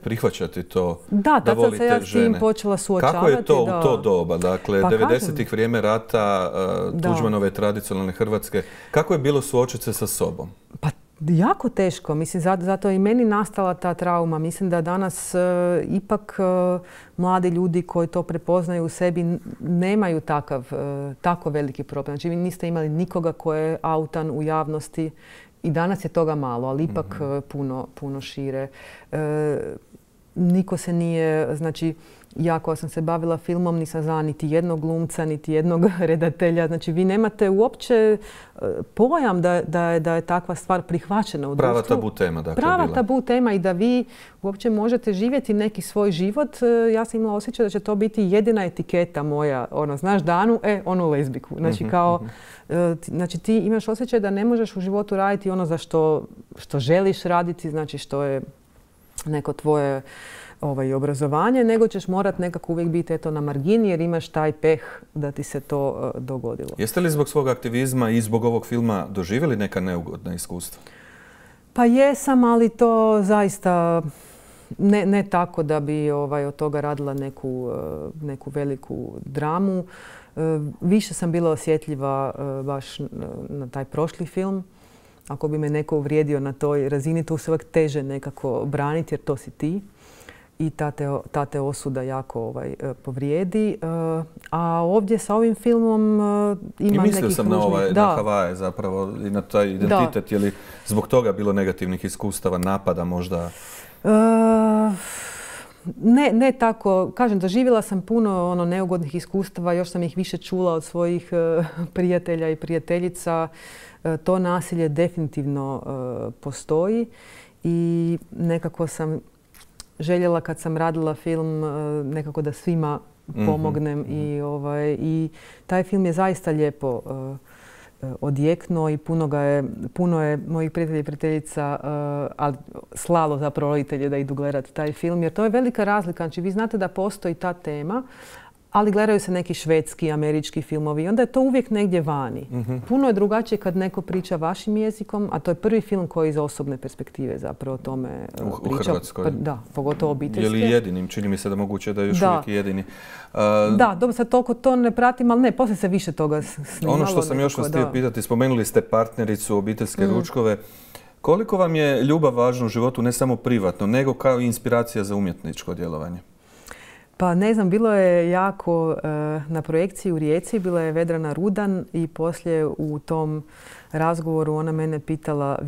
prihvaćati to da volite žene. Da, tad sam se ja s tim počela suočavati. Kako je to u to doba? Dakle, 90-ih vrijeme rata, Tuđmanove tradicionalne Hrvatske. Kako je bilo suočiti se sa sobom? Pa jako teško. Mislim, zato je i meni nastala ta trauma. Mislim da danas ipak mladi ljudi koji to prepoznaju u sebi nemaju tako veliki problem. Znači, vi niste imali nikoga ko je autan u javnosti. I danas je toga malo, ali ipak puno šire. Niko se nije, znači ja koja sam se bavila filmom nisam znala niti jednog glumca, niti jednog redatelja. Znači vi nemate uopće pojam da je takva stvar prihvaćena u društvu. Prava tabu tema, dakle. Prava tabu tema i da vi uopće možete živjeti neki svoj život. Ja sam imala osjećaj da će to biti jedina etiketa moja. Znaš Danu, onu lezbiku. Znači znači ti imaš osjećaj da ne možeš u životu raditi ono za što želiš raditi, znači što je neko tvoje obrazovanje, nego ćeš morat nekako uvijek biti na margini jer imaš taj peh da ti se to dogodilo. Jeste li zbog svog aktivizma i zbog ovog filma doživjeli neka neugodna iskustva? Pa jesam, ali to zaista ne tako da bi od toga radila neku veliku dramu. Više sam bila osjetljiva baš na taj prošli film. Ako bi me neko uvrijedio na toj razini, to se uvijek teže nekako braniti jer to si ti. I ta te osuda jako povrijedi. A ovdje sa ovim filmom ima nekih... I mislio sam na Havaje zapravo i na taj identitet. Je li zbog toga bilo negativnih iskustava, napada možda? Ne tako. Kažem, doživjela sam puno neugodnih iskustava. Još sam ih više čula od svojih prijatelja i prijateljica. To nasilje definitivno postoji i nekako sam željela kad sam radila film nekako da svima pomognem i taj film je zaista lijepo odjeknuo i puno je mojih prijatelja i prijateljica slalo zapravo roditelje da idu gledati taj film jer to je velika razlika. Znači vi znate da postoji ta tema, ali gledaju se neki švedski, američki filmovi i onda je to uvijek negdje vani. Puno je drugačije kad neko priča vašim jezikom, a to je prvi film koji iz osobne perspektive zapravo o tome priča. U Hrvatskoj? Da, pogotovo obiteljske. Je li jedinim? Čini mi se da moguće da je još uvijek jedini. Da, dobro, sad toliko to ne pratim, ali ne, poslije se više toga snimalo. Ono što sam još vas htio pitati, spomenuli ste partnericu, obiteljske ručkove. Koliko vam je ljubav važna u životu, ne samo privatno, nego kao inspiracija za umjetničko djelovanje? Pa ne znam, bilo je jako na projekciji u Rijeci, bila je Vedrana Rudan i poslije u tom razgovoru ona mene pitala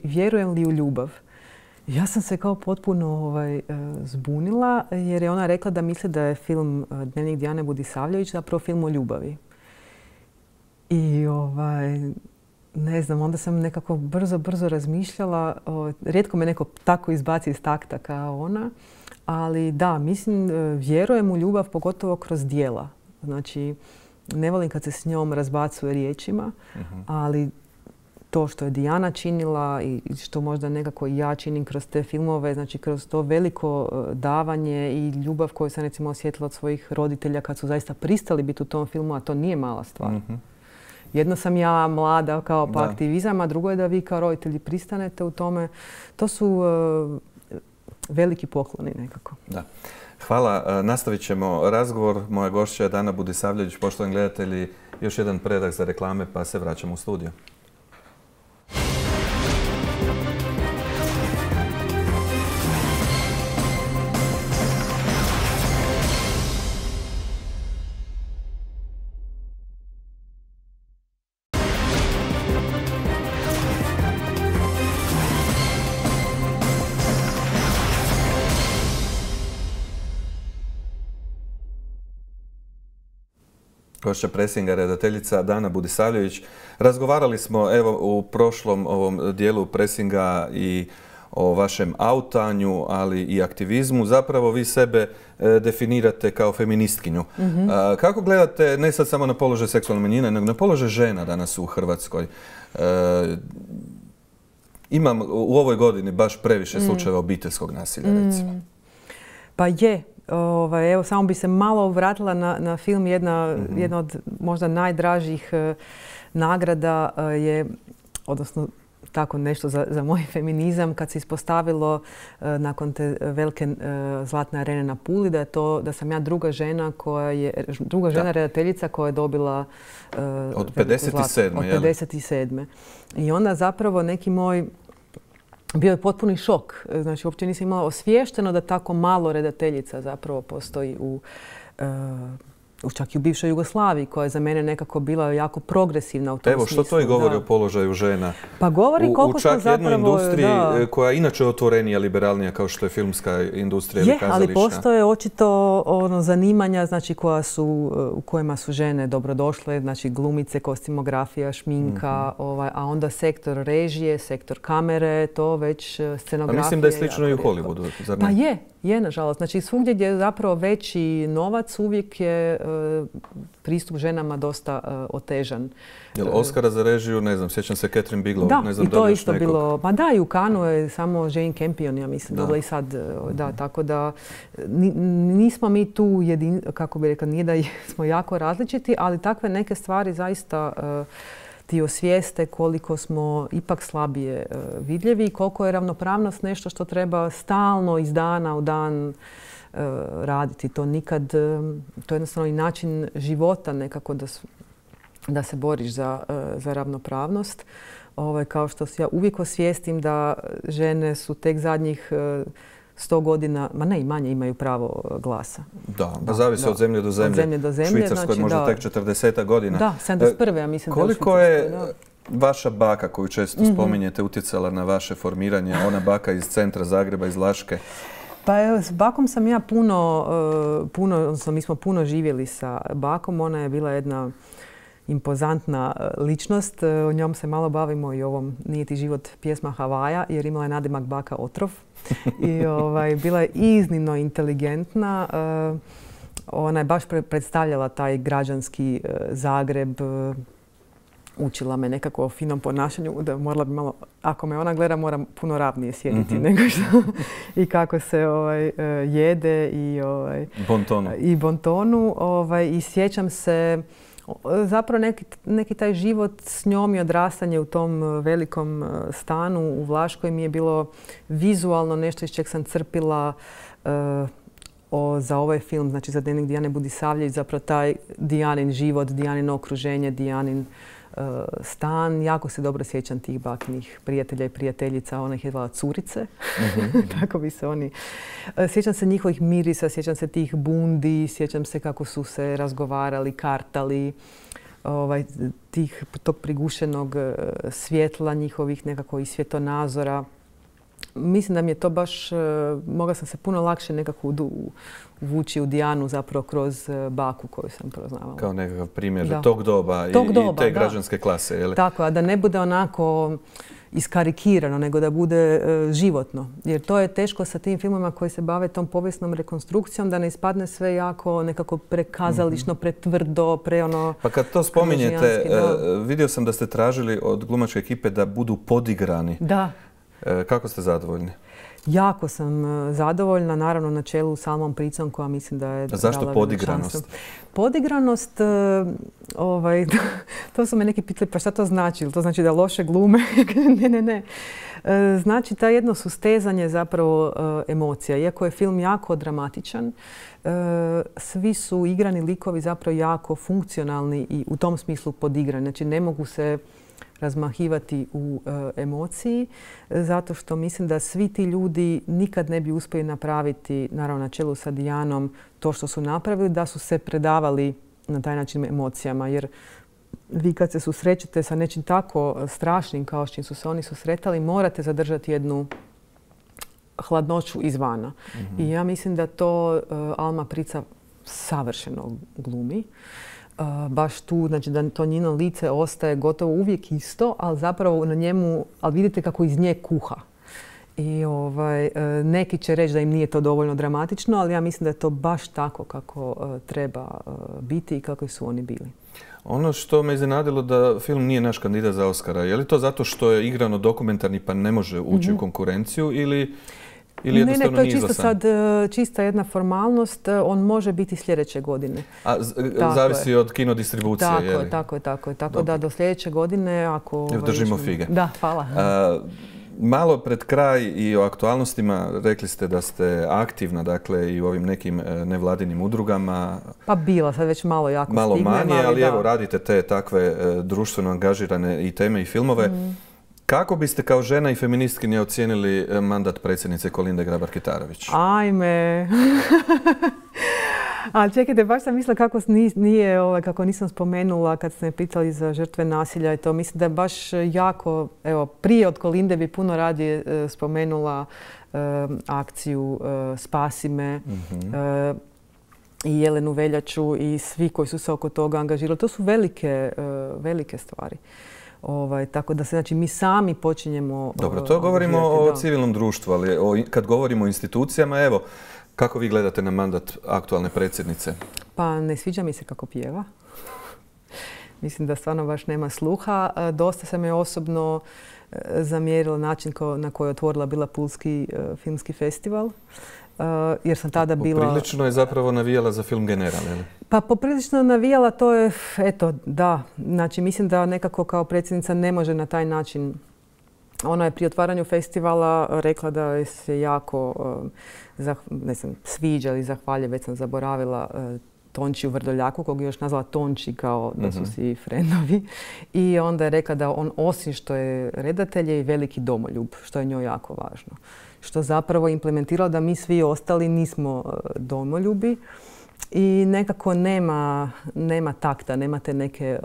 vjerujem li u ljubav. Ja sam se kao potpuno zbunila jer je ona rekla da misli da je film Dnevnik Dijane Budisavljević zapravo film o ljubavi. I ne znam, onda sam nekako brzo razmišljala. Rijetko me neko tako izbaci iz takta kao ona. Ali da, mislim, vjerujem u ljubav pogotovo kroz djela. Znači, ne volim kad se s njom razbacuje riječima, ali to što je Dijana činila i što možda nekako i ja činim kroz te filmove, znači kroz to veliko davanje i ljubav koju sam recimo osjetila od svojih roditelja kad su zaista pristali biti u tom filmu, a to nije mala stvar. Jedno sam ja mlada kao pa aktivizam, a drugo je da vi kao roditelji pristanete u tome. To su veliki pokloni nekako. Da. Hvala. Nastavit ćemo razgovor. Moja gošća je Dana Budisavljević. Poštovani gledatelji, još jedan predah za reklame pa se vraćamo u studio. Gošća Presinga, redateljica Dana Budisavljević. Razgovarali smo u prošlom ovom dijelu Presinga i o vašem autanju, ali i aktivizmu. Zapravo vi sebe definirate kao feministkinju. Kako gledate ne sad samo na položaj seksualne manjine, nego na položaj žena danas u Hrvatskoj? Imam u ovoj godini baš previše slučajeva obiteljskog nasilja, recimo. Pa je. Evo, samo bi se malo vratila na film. Jedna od možda najdražih nagrada je, odnosno tako nešto za moj feminizam, kad se ispostavilo nakon te velike Zlatne arene na Puli, da sam ja druga žena redateljica koja je dobila od 57. Od 57. I onda zapravo neki moj bio je potpuni šok. Znači, uopće nisam imala osviješteno da tako malo redateljica zapravo postoji čak i u bivšoj Jugoslaviji, koja je za mene nekako bila jako progresivna u tom smislu. Evo, što to i govori o položaju žena? Pa govori koliko smo zapravo... U čak jednoj industriji koja je inače otvorenija, liberalnija, kao što je filmska industrija ili kazališna. Ali postoje očito zanimanja u kojima su žene dobrodošle, znači glumice, kostimografija, šminka, a onda sektor režije, sektor kamere, to već scenografija. A mislim da je slično i u Hollywoodu, zar ne? Pa je, nažalost. Znači, svugdje gdje je zapravo veći novac, uvijek je pristup ženama dosta otežan. Jel Oscara za režiju, ne znam, sjećam se Catherine Bigelow, da, ne znam da li još nekog. Da, i to isto bilo. Pa da, i u Cannesu je samo Jane Campion, ja mislim, dobila i sad. Da, tako da nismo mi tu kako bi rekla, nije da smo jako različiti, ali takve neke stvari zaista ti osvijeste koliko smo ipak slabije vidljivi i koliko je ravnopravnost nešto što treba stalno iz dana u dan raditi. To nikad, to je jednostavno i način života nekako da se boriš za ravnopravnost. Kao što ja uvijek osvijestim da žene su tek zadnjih 100 godina, ma ne i manje, imaju pravo glasa. Da, zavisi od zemlje do zemlje. Od zemlje do zemlje. Švicarskoj možda tek 40 godina. Da, 71. ja mislim. Koliko je vaša baka, koju često spominjete, utjecala na vaše formiranje? Ona baka iz centra Zagreba, iz Laške. Pa evo, s bakom sam ja odnosno mi smo puno živjeli sa bakom. Ona je bila jedna impozantna ličnost. O njom se malo bavimo i ovom Nije ti život pjesma Havaja, jer imala je nadimak baka Otrov. I bila je iznimno inteligentna. Ona je baš predstavljala taj građanski Zagreb. Učila me nekako o finom ponašanju, da morala bi malo, ako me ona gleda, moram puno ravnije sjediti nego što i kako se jede i bontonu. I sjećam se zapravo neki taj život s njom i odrastanje u tom velikom stanu u Vlaškoj mi je bilo vizualno nešto iz čeg sam crpila za ovaj film, znači za Dnevnik Dijane Budisavljević, zapravo taj Dijanin život, Dijanino okruženje, Dijanin stan. Jako se dobro sjećam tih bakinih prijatelja i prijateljica. Ona ih je zvala curice. Tako bi se oni... Sjećam se njihovih mirisa, sjećam se tih bundi, sjećam se kako su se razgovarali, kartali, tog prigušenog svjetla njihovih, nekako i svjetonazora. Mislim da mi je to baš, mogla sam se puno lakše nekako uvući u Dijanu zapravo kroz baku koju sam poznavala. Kao nekakav primjer tog doba i te građanske klase, je li? Tako, a da ne bude onako iskarikirano, nego da bude životno. Jer to je teško sa tim filmima koji se bave tom povijesnom rekonstrukcijom, da ne ispadne sve jako nekako prekazališno, pretvrdo, Pa kad to spominjete, vidio sam da ste tražili od glumačke ekipe da budu podigrani. Da. Kako ste zadovoljni? Jako sam zadovoljna, naravno na čelu s Almom Pricom koja mislim da je... Zašto podigranost? Podigranost, to su me neki pitali, pa šta to znači? To znači da loše glume? Ne. Znači ta jedno sustezanje zapravo emocija. Iako je film jako dramatičan, svi su igrani likovi zapravo jako funkcionalni i u tom smislu podigrani. Znači ne mogu se razmahivati u emociji, zato što mislim da svi ti ljudi nikad ne bi uspjeli napraviti, naravno na čelu sa Dijanom, to što su napravili, da su se predavali na taj način emocijama. Jer vi kad se susrećete sa nečim tako strašnim kao s čim su se oni susretali, morate zadržati jednu hladnoću izvana. I ja mislim da to Alma Prica savršeno glumi. Baš tu, znači da to njeno lice ostaje gotovo uvijek isto, ali zapravo na njemu, ali vidite kako iz nje kuha. I neki će reći da im nije to dovoljno dramatično, ali ja mislim da je to baš tako kako treba biti i kako su oni bili. Ono što me iznenadilo da film nije naš kandidat za Oscara, je li to zato što je igrano dokumentarni pa ne može ući u konkurenciju ili jednostavno nije izglasan? Ne, to je čisto sad čista jedna formalnost. On može biti sljedeće godine. A zavisi od kinodistribucije, je li? Tako je. Tako da do sljedeće godine, ako... Držimo fige. Da, hvala. Malo pred kraj i o aktualnostima rekli ste da ste aktivna, dakle, i u ovim nekim nevladinim udrugama. Pa bila, sad već malo jako malo stigne. Malo manje, ali evo, radite te takve društveno angažirane i teme i filmove. Kako biste kao žena i feministkinja ocijenili mandat predsjednice Kolinde Grabar-Kitarović? Ajme! A čekajte, baš sam mislila kako nisam spomenula kad ste me pitali za žrtve nasilja i to. Mislim da je baš jako, evo, prije od Kolinde bi puno radije spomenula akciju Spasi me i Jelenu Veljaču i svi koji su se oko toga angažirali. To su velike stvari. Tako da se, znači, mi sami počinjemo... Dobro, to govorimo o civilnom društvu, ali kad govorimo o institucijama, evo, kako vi gledate na mandat aktualne predsjednice? Pa ne sviđa mi se kako pjeva. Mislim da stvarno baš nema sluha. Dosta se me osobno zamjerilo način na koji je otvorila bila Pulski filmski festival. jer sam tada bila... Poprilično je zapravo navijala za film General, je li? Pa poprilično navijala, to je, eto, da. Znači, mislim da nekako kao predsjednica ne može na taj način. Ona je pri otvaranju festivala rekla da se jako sviđa ili zahvalja, već sam zaboravila, Tončiju Vrdoljaku, kog je još nazvala Tonči kao da su svi frendovi. I onda je rekla da on, osim što je redatelj, je i veliki domoljub, što je njoj jako važno. Što zapravo implementiralo da mi svi ostali nismo domoljubi i nekako nema takta, nema te neke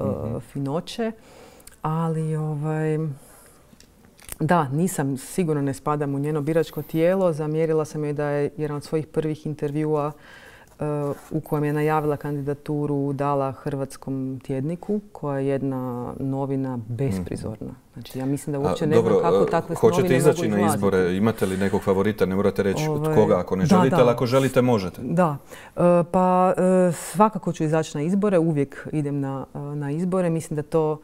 finoće, ali da, sigurno ne spadam u njeno biračko tijelo. Zamjerila sam joj da je jedan od svojih prvih intervjua u kojem je najavila kandidaturu dala Hrvatskom tjedniku, koja je jedna novina besprizorna. Znači, ja mislim da uopće ne znam kako takve novine mogu izlaziti. Hoćete izaći na izbore? Imate li nekog favorita? Ne morate reći od koga ako ne želite, ali ako želite možete. Da. Pa svakako ću izaći na izbore. Uvijek idem na izbore. Mislim da to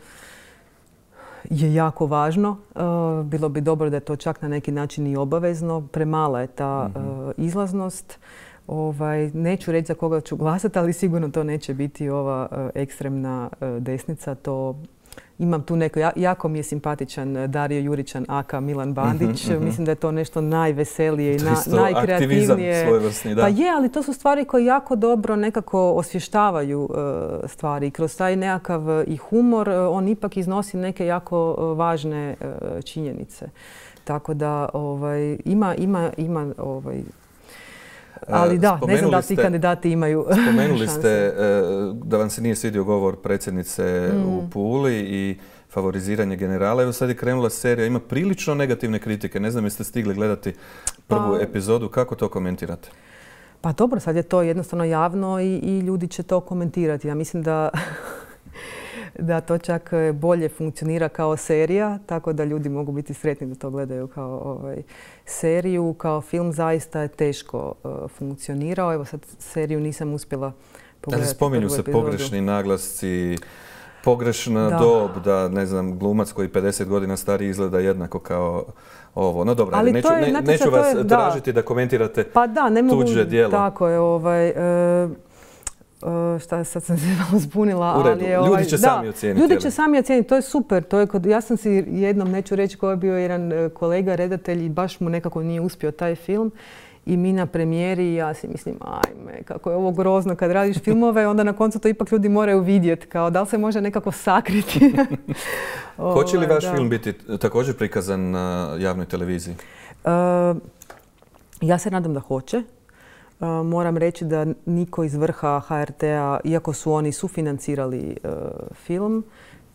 je jako važno. Bilo bi dobro da je to čak na neki način i obavezno. Premala je ta izlaznost. Neću reći za koga ću glasati, ali sigurno to neće biti ova ekstremna desnica. Imam tu neko, jako mi je simpatičan Dario Juričan aka Milan Bandić. Mislim da je to nešto najveselije i najkreativnije. Aktivizam svojevrsni, da. Pa je, ali to su stvari koje jako dobro nekako osvještavaju stvari. Kroz taj nekakav i humor on ipak iznosi neke jako važne činjenice. Tako da ima ali da, ne znam da ti kandidati imaju šanse. Spomenuli ste da vam se nije svidio govor predsjednice u Puli i favoriziranje generala. Evo sad je krenula serija, ima prilično negativne kritike. Ne znam jeste stigli gledati prvu epizodu. Kako to komentirate? Pa dobro, sad je to jednostavno javno i ljudi će to komentirati. Ja mislim da to čak bolje funkcionira kao serija, tako da ljudi mogu biti sretni da to gledaju kao seriju. Kao film zaista je teško funkcionirao. Evo sad seriju nisam uspjela pogledati. Spominju se pogrešni naglasci, pogrešna dob, da ne znam, glumac koji 50 godina stari izgleda jednako kao ovo. No dobro, neću vas tražiti da komentirate tuđe djelo. Tako je. Sad sam se malo zbunila. U redu, ljudi će sami ocijeniti. Ljudi će sami ocijeniti, to je super. Ja sam si jednom, neću reći ko je bio jedan kolega, redatelj i baš mu nekako nije uspio taj film. I mi na premijeri i ja si mislim, ajme, kako je ovo grozno kad radiš filmove, onda na koncu to ipak ljudi moraju vidjeti. Kao da li se može nekako sakriti. Hoće li vaš film biti također prikazan na javnoj televiziji? Ja se nadam da hoće. Moram reći da niko iz vrha HRT-a, iako su oni sufinancirali film,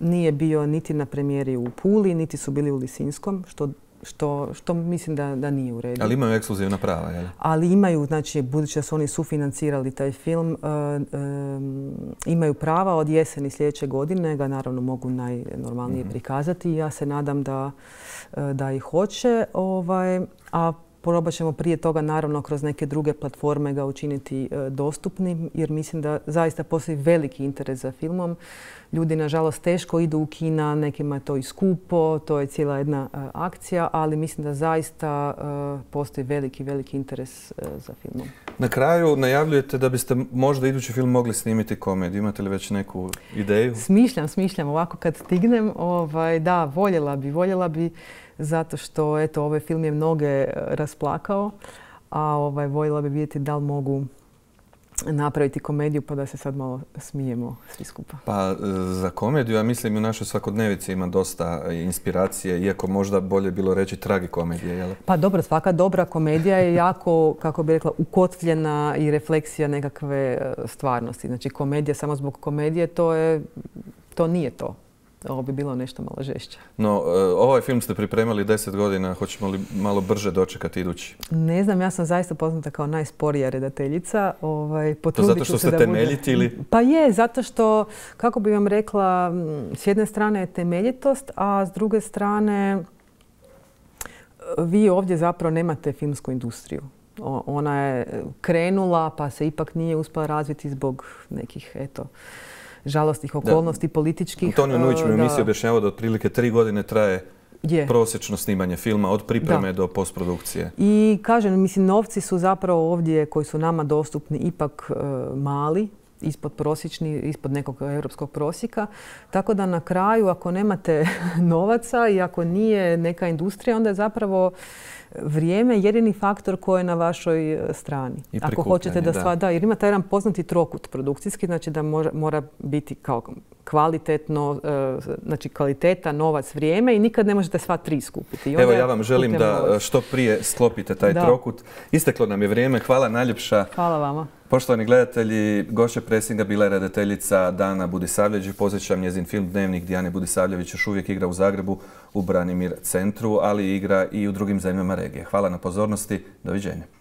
nije bio niti na premijeri u Puli, niti su bili u Lisinskom, što mislim da nije u redu. Ali imaju ekskluzivna prava, je li? Ali imaju, znači, budući da su oni sufinancirali taj film, imaju prava od jeseni sljedeće godine, ga naravno mogu najnormalnije prikazati. Ja se nadam da ih hoće, a probat ćemo prije toga naravno kroz neke druge platforme ga učiniti dostupnim, jer mislim da zaista postoji veliki interes za filmom. Ljudi nažalost teško idu u kina, nekima je to i skupo, to je cijela jedna akcija, ali mislim da zaista postoji veliki interes za filmom. Na kraju najavljujete da biste možda idući film mogli snimiti komediju. Imate li već neku ideju? Smišljam ovako kad stignem. Da, voljela bi zato što eto, ovaj film je mnoge rasplakao, a voljela bi vidjeti da li mogu napraviti komediju pa da se sad malo smijemo svi skupa. Pa za komediju, ja mislim u našoj svakodnevici ima dosta inspiracije, iako možda bolje bilo reći tragikomedije, jel? Pa dobro, svaka dobra komedija je jako, kako bih rekla, ukotvljena i refleksija nekakve stvarnosti. Znači komedija samo zbog komedije, to nije to. Ovo bi bilo nešto malo žešće. No, ovaj film ste pripremali 10 godina. Hoćemo li malo brže dočekati idući? Ne znam, ja sam zaista poznata kao najsporija redateljica. To zato što ste temeljiti ili? Pa je, zato što, kako bi vam rekla, s jedne strane je temeljitost, a s druge strane vi ovdje zapravo nemate filmsku industriju. Ona je krenula pa se ipak nije uspjela razviti zbog nekih, žalostnih okolnosti političkih. Antonio Nujić mi u emisiji objašnjavao da otprilike 3 godine traje prosječno snimanje filma od pripreme do postprodukcije. I kažem, mislim, novci su zapravo ovdje koji su nama dostupni ipak mali, ispod prosječni, ispod nekog europskog prosjeka. Tako da na kraju, ako nemate novaca i ako nije neka industrija, onda je zapravo vrijeme jedini faktor koji je na vašoj strani. Ako hoćete da jer ima taj jedan poznati trokut produkcijski, znači da mora biti kao kvalitetno, znači kvaliteta, novac, vrijeme i nikad ne možete sva tri skupiti. Evo, ja vam želim da što prije sklopite taj trokut. Isteklo nam je vrijeme. Hvala najljepša. Hvala vama. Poštovani gledatelji, gošća presinga bila je redateljica Dana Budisavljević. Podsjećam, njezin film Dnevnik Dijane Budisavljević još uvijek igra u Zagrebu u Branimir centru, ali igra i u drugim zemljama regije. Hvala na pozornosti. Doviđenja.